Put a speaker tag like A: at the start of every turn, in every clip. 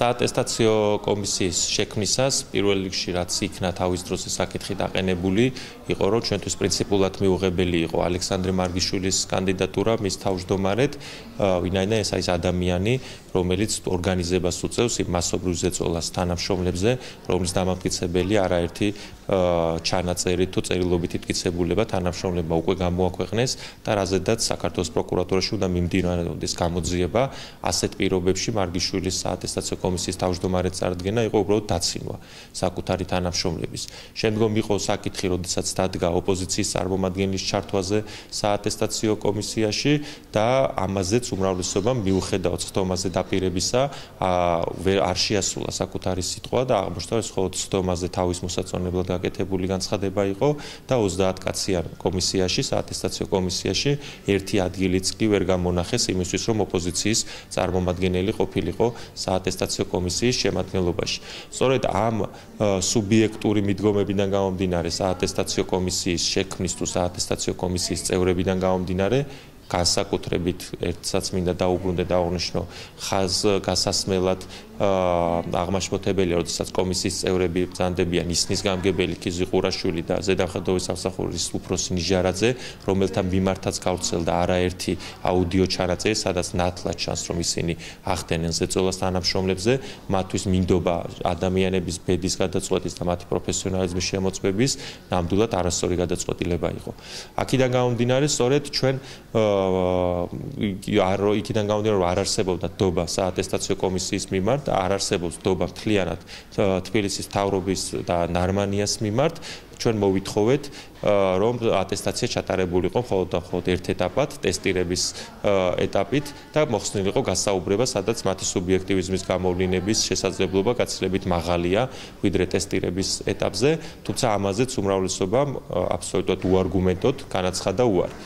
A: საატესტაციო კომისიის შექმნისას პირველ რიგში რაც იქნა თავის დროზე საკითხი დაყენებული იყო რომ ჩვენთვის პრინციპულად მიუღებელი იყო ალექსანდრე მარგიშვილის კანდიდატურა მის თავმჯდომარედ ვინაიდან ეს არის ადამიანი რომელიც ორგანიზებას უწევს იმ მასობრივ ზეწოლას თანამშრომლებზე რომლის დამამტკიცებელი არაერთი ჩანაწერი თუ წერილობითი მტკიცებულება თანამშრომლებმა უკვე გამოაქვეყნეს და რაზედაც საქართველოს პროკურატურაში უნდა მიმდინარეობდეს გამოძიება ასეთ პირობებში მარგიშვილის საატესტაციო კომისიის თავმჯდომარედ წარდგენა იყო უბრალოდ დაცინვა საკუთარი თანამშრომლების. შემდგომ იყო საკითხი, როდესაც დადგა ოპოზიციის წარმომადგენლის ჩართვაზე საატესტაციო კომისიაში და ამაზეც უმრავლესობამ მიუხედავად ხდომაზე დაპირებისა არ შეასრულა საკუთარი სიტყვა და აღმოჩნდა ეს მხოლოდ ხდომაზე თავის მოსაწონებლად გაკეთებული განცხადება იყო და 30 კაციან კომისიაში საატესტაციო კომისიაში ერთი ადგილიც კი ვერ გამონახეს იმისთვის რომ ოპოზიციის წარმომადგენელი ყოფილიყო საატესტაციო კომისიის შემადგენლობაში. სწორედ ამ სუბიექტური მიდგომებიდან გამომდინარე საატესტაციო კომისიის შექმნის თუ საატესტაციო კომისიის წევრებიდან გამომდინარე განსაკუთრებით ერთსაც მინდა დაუბრუნდე და აღნიშნო გასასმელად აღმაშფოთებელია, როდესაც კომისიის წევრები ბრძანდებიან ისნის გამგებელი კიზი ყურაშვილი და ზედამხედველობის სამსახურის უფროსი ნიჟარაძე, რომელთა მიმართაც გავრცელდა არაერთი აუდიო ჩანაწერი, სადაც ნათლად ჩანს, რომ ისინი ახდენენ ზეწოლას თანამშრომლებზე, მათთვის მინდობა ადამიანების ბედის გადაწყვეტის და მათი პროფესიონალიზმის შემოწმების ნამდვილად არასწორი გადაწყვეტილება იყო. აქედან გამომდინარე, სწორედ ჩვენ იქიდან გამომდინარე, რომ არ არსებობდა დობა საატესტაციო კომისიის მიმართ არ არსებობს დობა მთლიანად თბილისის მთავრობის და ნარმანიას მიმართ ჩვენ მოვითხოვეთ რომ ატესტაცია ჩატარებულიყო მხოლოდ და მხოლოდ ერთ ეტაპად ტესტირების ეტაპით და მოხსნილიყო გასაუბრება სადაც მათი სუბიექტივიზმის გამოვლინების შესაძლებლობა გაცილებით მაღალია ვიდრე ტესტირების ეტაპზე თუმცა ამაზეც უმრავლესობამ აბსოლუტურად უარგუმენტოდ განაცხადა უარი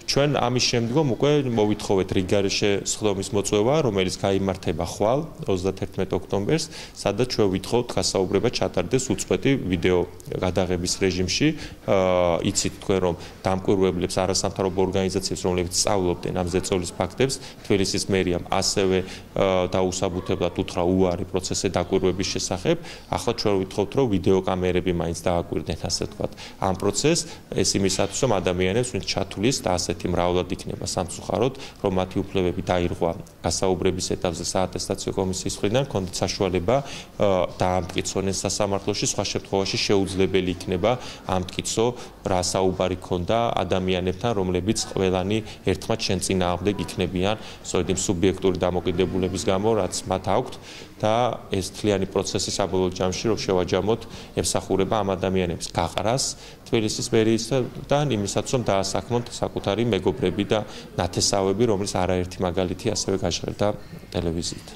A: ჩვენ ამის შემდგომ უკვე მოვითხოვეთ რიგგარეშე სხდომის მოწვევა, რომელიც გაიმართება ხვალ 31 ოქტომბერს, სადაც ჩვენ ვითხოვთ გასაუბრება ჩატარდეს უწყვეტი ვიდეო გადაღების რეჟიმში. იცით თქვენ რომ დამკვირვებლებს არასამთავრობო ორგანიზაციებს, რომლებიც სწავლობდნენ ამ ზეწოლის ფაქტებს, თბილისის მერიამ ასევე დაუსაბუთებლად უთხრა უარი პროცესზე დაკვირვების შესახებ. ახლა ჩვენ ვითხოვთ რომ ვიდეო კამერები მაინც დააკვირდნენ ასე ვთქვათ ამ პროცესს, ეს იმისათვის რომ ადამიანებს ვინც ჩათვლის და ასე მრავლად იქნება სამწუხაროდ, რომ მათი უფლებები დაირღვა გასაუბრების ეტაპზე საატესტაციო კომისიის მხრიდან, ჰქონდათ საშუალება დაამტკიცონ ეს სასამართლოში, სხვა შემთხვევაში შეუძლებელი იქნება ამტკიცო რა საუბარი ქონდა ადამიანებთან, რომლებიც ყველანი ერთხმად შენ წინააღმდეგ იქნებიან, სწორედ იმ სუბიექტური დამოკიდებულების გამო, რაც მათ აქვთ და ეს თლიანი პროცესი საბოლოო ჯამში რომ შევაჯამოთ ემსახურება ამ ადამიანების გაყრას თბილისის მერიისთან იმისაც რომ დაასაქმოთ საკუთარი მეგობრები და ნათესავები, რომლის არაერთი მაგალითი ასევე გაჟღერდა ტელევიზიით.